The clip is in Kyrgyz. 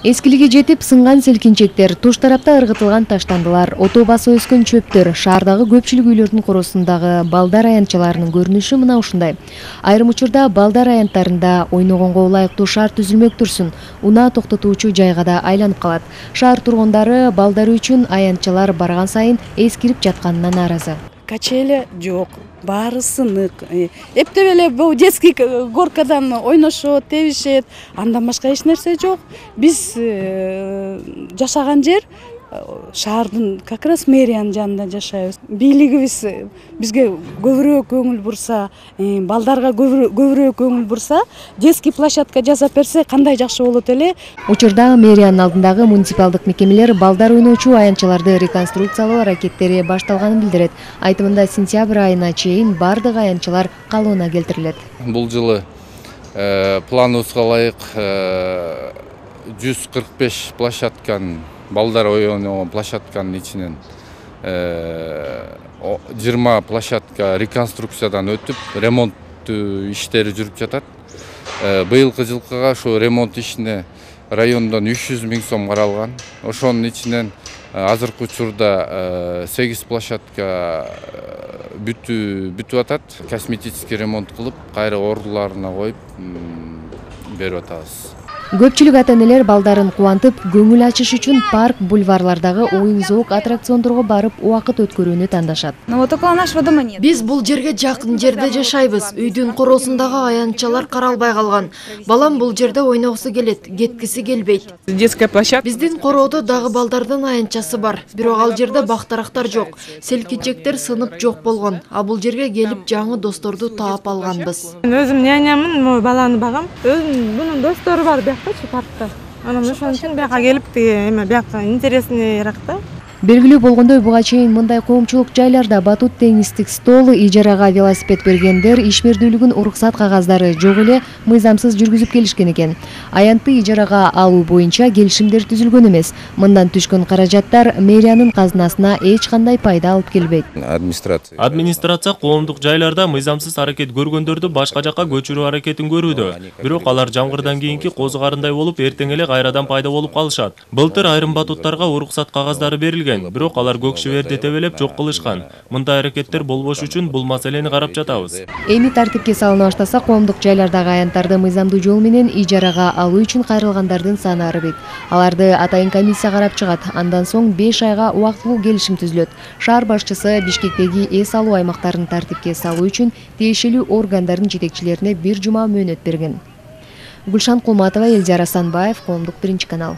Эскилиги жетип сынган селкинчектер, туш тарапта ыргытылган таштандылар, ото басып өскөн чөптөр, шаардагы көпчүлүк үйлөрдүн коросундагы балдар аянтчаларынын көрүнүшү мына ушундай. Айрым учурда балдар аянттарында ойногонго ылайыктуу шаар түзүлмөк турсун, унаа токтотуучу жайга да айланып калат. Шаар тургундары балдары үчүн аянтчалар барган сайын эскирип жатканына нааразы. Качеля жок, баары сынык. Эптеп эле бул детский горкадан ойношот, тебишет, андан башка эч нерсе жок. Биз жашаган жер шаардын как раз мэриянын жанында жашайбыз. Бийлигибиз бизге көбүрөөк көңүл бурса, балдарга көбүрөөк көңүл бурса, детский площадка жасап берсе кандай жакшы болот эле. Учурда мэриянын алдындагы муниципалдык мекемелер балдар ойночу аянтчаларды реконструкциялоо аракеттери башталганын билдирет. Айтымында сентябрь айына чейин бардык аянтчалар калыбына келтирилет. Бул жылы планыбызга ылайык 145 площадканын балдар ойногон площадканын ичинен 20 площадка реконструкциядан өтүп, ремонт иштери жүрүп жатат. Быйылкы жылкыга ошо ремонт ишине райондон 300 000 сом каралган. Ошонун ичинен азыркы учурда 8 площадка бүтүп атат. Косметический ремонт кылып, кайра ордуларына коюп берип атабыз. Көпчүлүк ата-энелер балдарын кубантып, көңүл ачыш үчүн парк, бульварлардагы оюн-зоок аттракциондорго барып убакыт өткөрүүнү тандашат. Биз бул жерге жакын жерде жашайбыз. Үйдүн коросундагы аянтчалар каралбай калган. Балам бул жерде ойногусу келет, кеткиси келбейт. Детская площадка. Биздин короодо дагы балдардын аянтчасы бар. Бирок ал жерде бактарактар жок. Селкинчектер сынып жок болгон. А бул жерге келип жаңы досторду таап алганбыз. Өзүм нянямын, мой баланы багам. Өзүм бунун достору бар паркта. Анан ошон үчүн бияка келип, бияка интересныйраак да. Белгилүү болгондой, буга чейин мындай коомчулук жайларда батут, теннистик стол, ижарага велосипед бергендер ишмердүүлүгүн уруксат кагаздары жок эле мыйзамсыз жүргүзүп келишкен экен. Аянтты ижарага алуу боюнча келишимдер түзүлгөн эмес. Мындан түшкөн каражаттар мэриянын казынасына эч кандай пайда алып келбейт. Администрация коомдук жайларда мыйзамсыз аракет көргөндөрдү башка жакка көчүрүү аракетин көрүүдө. Бирок алар жамгырдан кийинки козугарындай болуп, эртең эле кайрадан пайда болуп калышат. Былтыр айрым батуттарга уруксат кагаздары берилген. Бирок алар көк шиберди тебелеп жок кылышкан. Мындай аракеттер болбош үчүн бул маселени карап жатабыз. Эми тартипке салына баштаса, коомдук жайлардагы аянттарды мыйзамдуу жол менен ижарага алуу үчүн кайрылгандардын саны арыбайт. Аларды атайын комиссия карап чыгат. Андан соң 5 айга убактылуу келишим түзүлөт. Шаар башчысы Бишкектеги эс алуу аймактарын тартипке салуу үчүн тиешелүү органдардын жетекчилерине 1 жума мөөнөт берген. Гүлшан Кулматова, Элдияр Асанбаев, Коомдук 1 канал.